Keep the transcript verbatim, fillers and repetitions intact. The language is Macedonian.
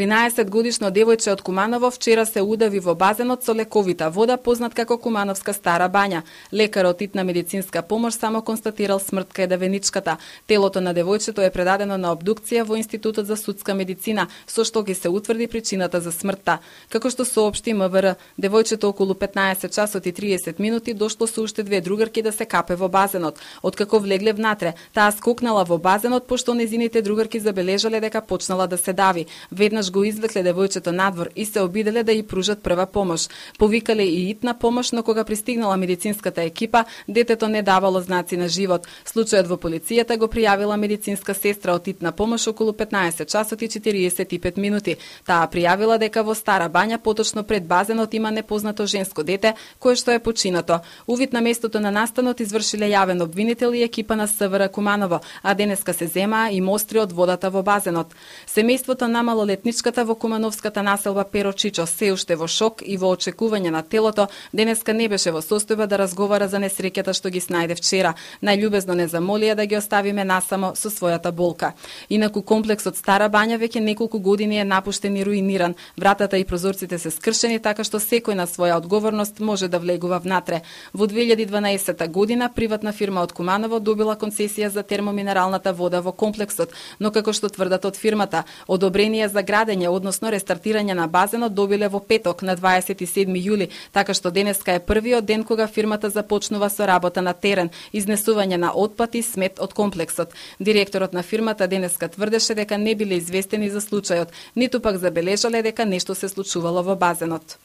тринаесет годишно девојче од Куманово вчера се удави во базенот со лековита вода, познат како Кумановска Стара бања. Лекарот итна медицинска помош само констатирал смрт кај девеничката. Телото на девојчето е предадено на обдукција во Институтот за судска медицина, со што ќе се утврди причината за смртта. Како што соопшти МВР, девојчето околу петнаесет часот и триесет минути дошло со уште две другарки да се капе во базенот. Откако влегле внатре, таа скокнала во базенот пошто незините другарки забележале дека почнала да се дави. Веднаш го извлекле девојчето надвор и се обиделе да ја пружат прва помош. Повикале и итна помош, но кога пристигнала медицинската екипа, детето не давало знаци на живот. Случајот во полицијата го пријавила медицинска сестра од итна помош околу петнаесет часот и четириесет и пет минути. Таа пријавила дека во Стара бања, поточно пред базенот, има непознато женско дете кое што е починато. Увид на местото на настанот извршиле јавен обвинител и екипа на СВР Куманово, а денеска се земаа и мостри од водата во базенот. Семејството на малолетничката во Кумановската населба Перо Чичо се уште во шок и во очекување на телото, денеска не беше во состојба да разговара за несреќата што ги снајде вчера. Најљубезно не замолија да ги оставиме насамо со својата болка. Инаку комплексот Стара бања веќе неколку години е напуштен и руиниран. Вратата и прозорците се скршени така што секој на своја одговорност може да влегува внатре. Во две илјади и дванаесетта година приватна фирма од Куманово добила концесија за термоминералната вода во комплексот, но како што тврдат од фирмата, одобрение за градење, односно рестартирање на базенот добиле во петок на дваесет и седми јули, така што денеска е првиот ден кога фирмата започнува со работа на терен, изнесување на отпад и смет од комплексот. Директорот на фирмата денеска тврдеше дека не биле известени за случајот, ниту пак забележале дека нешто се случувало во базенот.